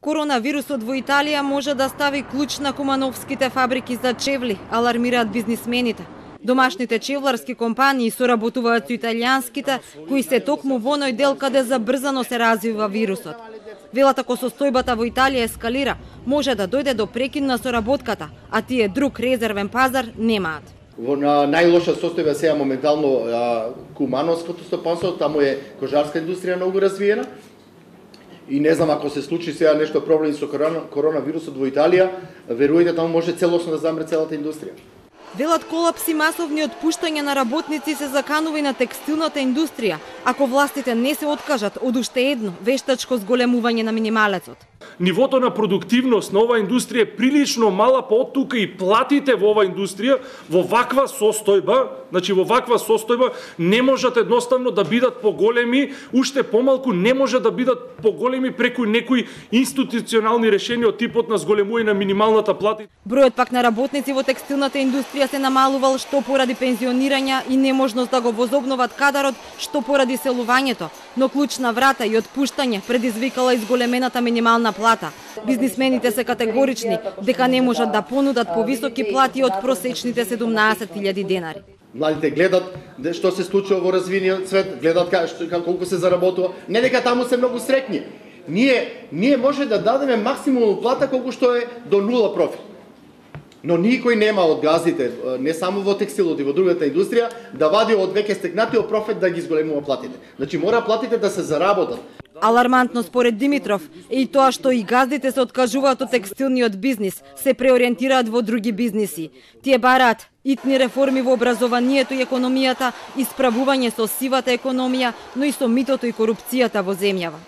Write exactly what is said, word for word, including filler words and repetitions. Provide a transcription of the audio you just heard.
Коронавирусот во Италија може да стави клуч на кумановските фабрики за чевли, алармираат бизнисмените. Домашните чевларски компании соработуваат со италијанските, кои се токму во оној дел каде забрзано се развива вирусот. Велат ако состојбата во Италија ескалира, може да дојде до прекин на соработката, а тие друг резервен пазар немаат. Во на најлоша состојба сега моментално кумановското стопанство, таму е кожарска индустрија многу развиена. И не знам, ако се случи сега нешто проблеми со коронавирусот во Италија, верујте, таму може целосно да замре целата индустрија. Велат колапси масовни отпуштања на работници се заканува и на текстилната индустрија, ако властите не се откажат од уште едно вештачко зголемување на минималецот. Нивото на продуктивност на оваа индустрија е прилично мала, па од тука и платите во оваа индустрија во ваква состојба, значи во ваква состојба не можат едноставно да бидат поголеми, уште помалку не може да бидат поголеми преку некои институционални решенија од типот на зголемување на минималната плата. Бројот пак на работници во текстилната индустрија се намалувал што поради пензионирања и неможност да го возобноват кадарот, што поради селувањето, но клучна врата и отпуштање предизвикала изголемената минимална плата. Бизнисмените се категорични дека не можат да понудат повисоки плати од просечните седумнаесет илјади денари. Младите гледат што се случува во развиениот свет, гледат колку се заработува, не дека таму се многу среќни. Ние ние може да дадеме максимумна плата колку што е до нула профит. Но никој нема од газите, не само во текстилот и во другата индустрија, да вади од веќе стекнатиот профит да ги зголемува платите. Значи мора платите да се заработат. Алармантно според Димитров е и тоа што и газдите се откажуваат од текстилниот бизнис, се преориентираат во други бизниси. Тие бараат итни реформи во образованието и економијата, исправување со сивата економија, но и со митото и корупцијата во земјава.